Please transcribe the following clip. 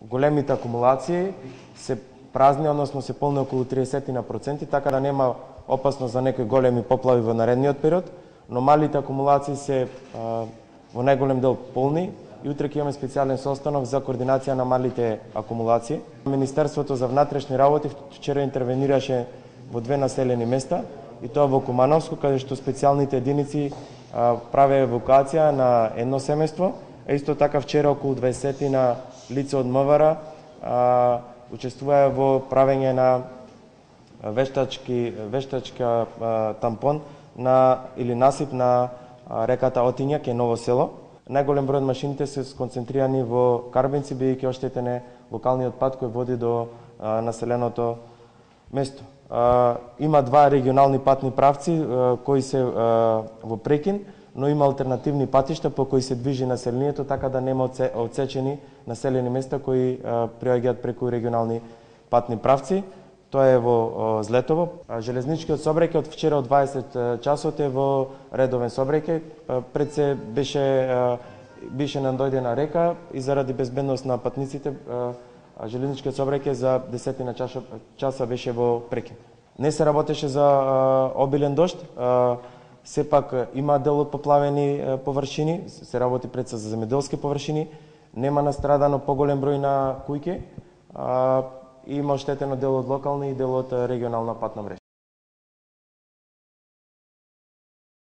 големите акумулации се празни, односно се полни околу 30%, така да нема опасност за некои големи поплави во наредниот период, но малите акумулации се во најголем дел полни и утре ќе имаме специјален состанок за координација на малите акумулации. Министерството за внатрешни работи вчера интервенираше во 2 населени места, и тоа во Кумановско, каде што специјалните единици праве евакуација на едно семејство, а исто така вчера околу 20 на лица од МВР учествуваа во правење на вештачка тампон или насип на реката Отиња кај Ново село. Најголем број од машините се сконцентрирани во Карбенци, бидејќи оштетен е локалниот пат кој води до населеното место. Има 2 регионални патни правци кои се во прекин, но има алтернативни патишта по кои се движи населението, така да нема отсечени населени места кои приоѓаат преку регионални патни правци. Тоа е во Злетово. Железничкиот сообраќај од вчера од 20 часот е во редовен сообраќај. Пред се беше надојдена река и заради безбедност на патниците железничкиот сообраќај за 10 часа беше во прекин. Не се работеше за обилен дожд, сепак има дел од поплавени површини, се работи пред се за земјоделски површини, нема настрадано поголем број на куќи, и има оштетено дел од локални и дел од регионална патна мрежа.